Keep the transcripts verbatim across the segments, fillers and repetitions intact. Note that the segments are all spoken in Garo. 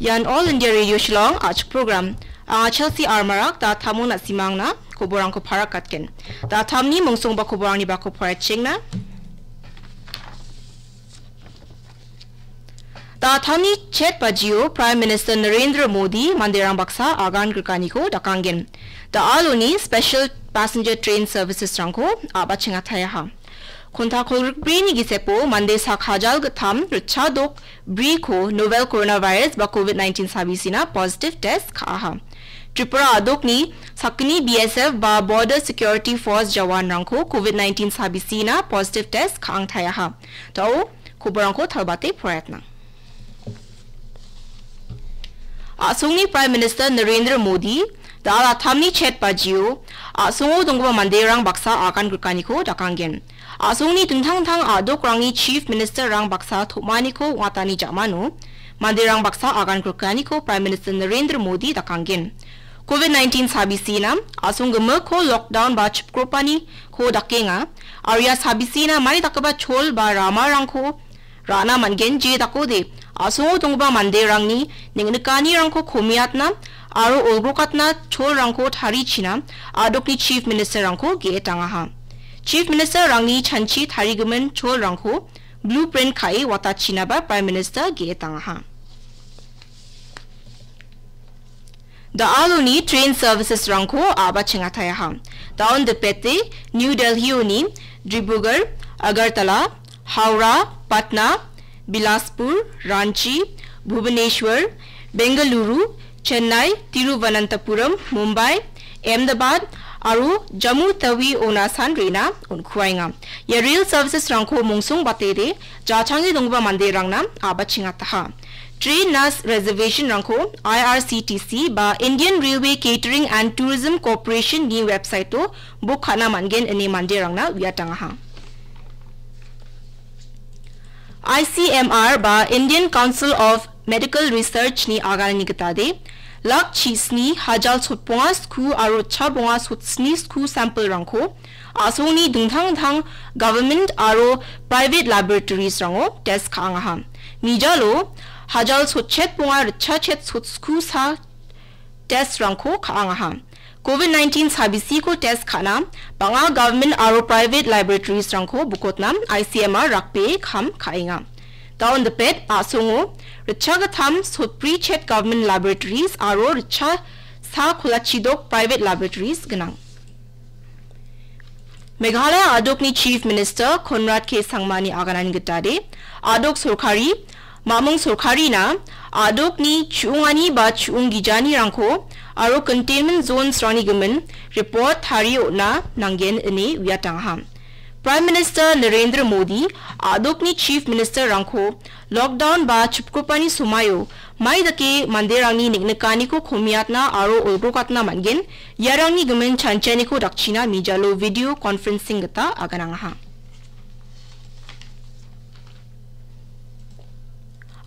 Ian All India Radio Shillong a·chik program. Anga Chelsea Armarak, da·tamon na·simangna koborangko parakatgen. Da·tamni mongsongba koborangni bako parachengna. Da·tamni chet bajio Prime Minister Narendra Modi manderang baksa agan grikaniko dakanggen. Da·aloni special passenger train services-rangko a·bachengataha. Konta kolgrikbrini gisepo mande sak hajal gittam ritchadok briko novel coronavirus ba covid nineteen sabisina positive test ka·aha. Tripura a·dokni sakgni B S F ba Border Security Force jawanrangko covid nineteen sabisina positive test ka·angtaiaha. Da·o koborangko talbate poraiatna. A·songni Prime Minister Narendra Modi da·al a·tamni chet bajio a·songo donggipa manderang baksa agan grikaniko dakanggen. A·songni dingtang dingtang a·dokrangni Chief Minister-rang baksa tom·aniko ong·atani ja·mano manderang baksa agan grikaniko Prime Minister Narendra Modi dakanggen. Covid nineteen sabisina a·song gimikko lockdown ba chipgropaniko dakenga, aro ia sabisina mani dakgipa chol ba ramarangko ra·na man·gen, je dakode a·songo donggipa manderangni neng·nikanirangko komiatna aro olgrokatna cholrangko tarichina a·dokni Chief Minister-rangko ge·etangaha. Chief Minister-rangni chanchi tarigimin cholrangko blueprint ka·e watachinaba Prime Minister ge·etangaha. Da·aloni train services-rangko a·bachengataha. Da·on dipete New Delhi-oni Dibrugarh, Agartala, Howrah, Patna, Bilaspur, Ranchi, Bhubaneswar, Bengaluru, Chennai, Tiruvananthapuram, Mumbai, Ahmedabad aro Jammu Tawi on·asan re·na on·kuaenga. Ia rail services-rangko mongsong batede jachange donggipa manderangna a·bachengataha. Train-na reservation-rangko I R C T C ba Indian Railway Catering and Tourism Corporation-ni website-o book ka·na man·gen ine manderangna uiatangaha. I C M R ba Indian Council of Medical Research-ni aganani gitade, lak chisni hajal sotbonga sku aro chabonga sotsni sku sample-rangko a·songni dingtang dingtang government aro private laboratories-rango test ka·angaha. Mijalo hajal sotchet bonga ritchachet sotsku sa test-rangko ka·angaha. Covid nineteen sabisiko test ka·na bang·a government aro private laboratories-rangko bukotna I C M R rakbee kam ka·enga. Da·on dipet a·songo ritchagittam sotbrichet government laboratories aro ritchasa kolachidok private laboratories gnang. Meghalaya a·dokni Chief Minister Conrad K Sangmani aganani gitade, a·dok sorkari, mamung sorkarina, a·dokni chu·ungani ba chu·ung gijanirangko aro containment zones-rangni gimin report tarie on·na nanggen ine uiatangaha. Prime Minister Narendra Modi a·dokni Chief Minister-rangko lockdown ba chipgipani somaio mai dake manderangni neng·nikaniko komiatna aro olgrokatna man·gen, iarangni gimin chanchianiko dakchina mijalo video conferencing gita aganangaha.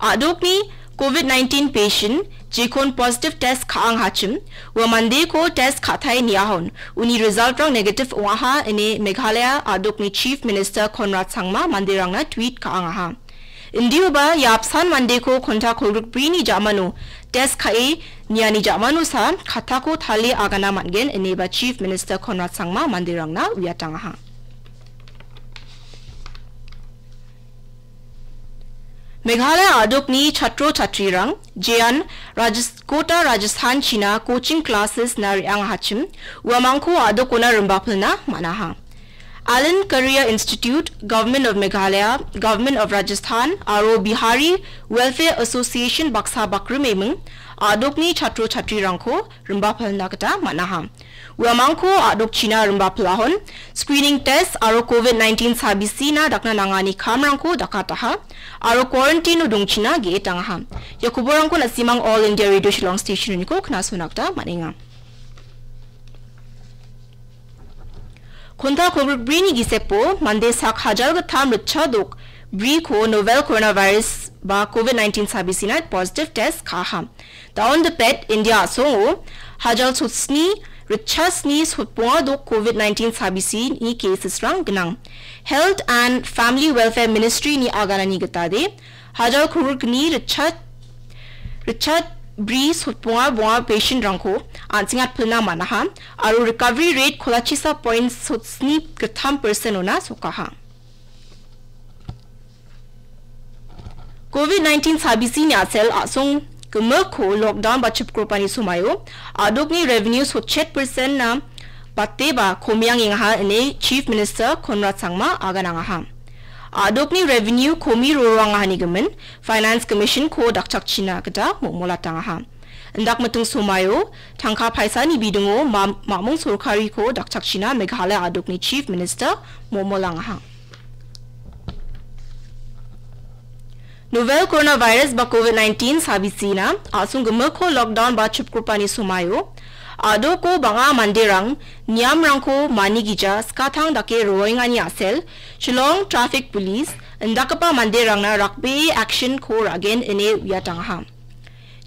A·dokni covid nineteen patient jekon positive test ka·anghachim, ua mandeko test ka·tae niahon, uni result-rang negative ong·aha ine Meghalaya a·dokni Chief Minister Conrad Sangma manderangna tweet ka·angaha. Indioba ia apsan mandeko konta kolgrikbrini ja·mano test ka·e niani ja·manosa katako talie agana man·gen ineba Chief Minister Conrad Sangma manderangna uiatangaha. Meghalaya a·dokni chatro chatrirang jean Rajis-, Kota Rajasthan china coaching classes-na re·angahachim, uamangko a·dokona rimbapilna man·aha. Alan Career Institute, Government of Meghalaya, Government of Rajasthan aro Bihari Welfare Association baksa bakrimeming a·dokni chatro chatrirangko rimbapilna gita man·aha. Uamangko a·dokchina rimbapilahon, screening test aro covid nineteen sabisina dakna nangani kamrangko dakataha, aro quarantine-o dongchina ge·etangaha. Ia koborangko na·simang All India Radio Shillong Station-oniko knasona gita man·enga. Konta kolgrikbrini gisepo mande sak hajalgittam ritchadok briko novel coronavirus ba covid nineteen sabisina positive test ka·aha. Daon dipet India a·songo hajal sotsni ritchasni sotbonga dok covid nineteen sabisini cases-rang gnang. Health and Family Welfare Ministry-ni aganani gitade, hajal kolgrikni ritcha-, ritchad bri sotbonga bonga patient-rangko an·sengatpilna man·aha aro recovery rate kolachisa point sotsni gittam percent-ona sokaha. Covid nineteen sabisini a·sel a·song gimikko lockdown ba chipkropani somaio a·dokni revenue sotchet percent-na bateba komiangengaha ine Chief Minister Conrad Sangma aganangaha. A·dokni revenue komi roroangahani gimin Finance Commission-ko dakchakchina gita momolatangaha. Indakmiting somaio tangka paisani bidingo ma-, mamung sorkariko dakchakchina Meghalaya a·dokni Chief Minister momolangaha. Novel coronavirus ba Covid nineteen sabisina a·song gimikko lockdown ba chipkropani somaio a·doko bang·a manderang niamrangko manigija skatang dake roengani a·sel Shillong Traffic Police indakgipa manderangna rakbee action-ko ra·gen ine uiatangaha.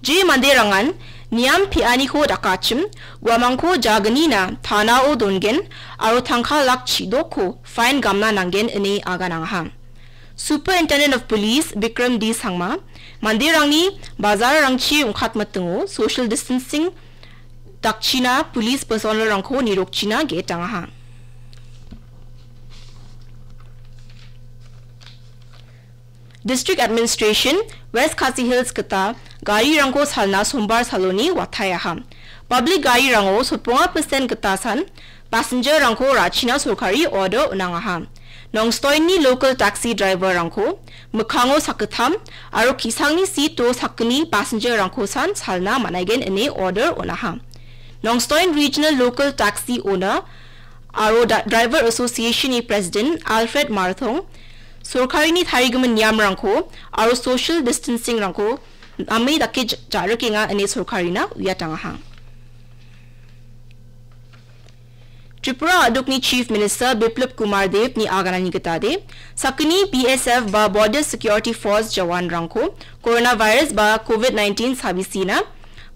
Je manderangan niam pe·aniko dakachim, uamangko jagnina tanao dongen aro tangka lak chidokko fine gamna nanggen ine aganangaha. Superintendent of Police Bikram D Sangma manderangni bazarrangchi ong·katmitingo social distancing dakchina police personnel-rangko nirokchina ge·etangaha. District Administration West Khasi Hills gita garirangko salna Sombar saloni wataiaha. Public garirango sotbonga percent gita san passenger-rangko ra·china sorkari order on·angaha. Nongstoinni local taxi driver-rangko mikkango sakgittam aro ki·sangni seat-o sakgni passenger-rangko san salna man·aigen ine order on·aha. Nongstoin Regional Local Taxi Owner aro da-, Driver Association-ni President Alfred Marthong, sorkarini tarigimin niamrangko aro social distancing-rangko name dake j-, ja·rikenga ine sorkarina uiatangaha. Tripura a·dokni Chief Minister Biplab Kumar Dev-ni aganani gitade, sakgni B S F ba Border Security Force jawanrangko coronavirus ba Covid nineteen sabisina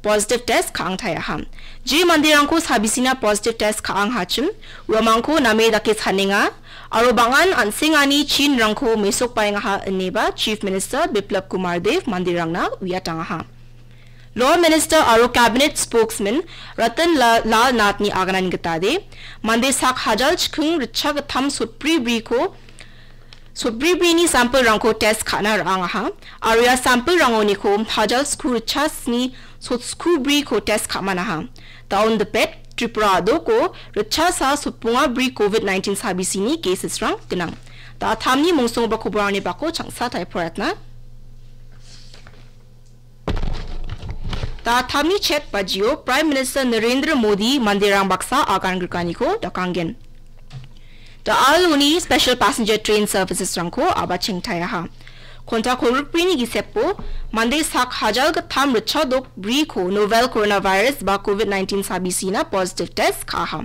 positive test ka·angtaiaha. Je manderangko sabisina positive test ka·anghachim, uamangko name dake sanenga, aro bang·an an·sengani chinrangko mesokbaengaha ineba Chief Minister Biplab Kumar Dev manderangna uiatangaha. Law Minister aro Cabinet Spokesman Ratan La-, Lal Nath-ni aganani gitade, mande sak hajal chiking ritchagittam sotbri briko sotbribrini samplerangko test ka·na ra·angaha, aro ia samplerangoniko hajal sku ritchasni sotskubriko test ka·manaha. Daon dipet, Tripura a·doko ritchasa sotbonga bri Covid nineteen sabisini cases-rang gnang. Da·atamni mongsongoba koborangni bako changsa taiporatna. Da·atamni chet bajio Prime Minister Narendra Modi manderang baksa agan grikaniko dakanggen. Da·aloni special passenger train services-rangko a·bachengtaiaha. Konta kolgrikbrini gisepo mande sak hajal gittam ritchadok briko novel coronavirus ba Covid nineteen sabisina positive test ka·aha.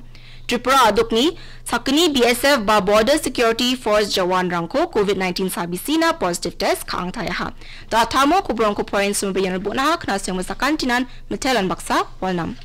Tripura a·dokni sakgni B S F ba Border Security Force jawanrangko Covid nineteen sabisina positive test ka·angtaiaha. Da·atamo koborangko porainsomoba iano bon·aha, knasengmo sakantinan mitelan baksa walnam.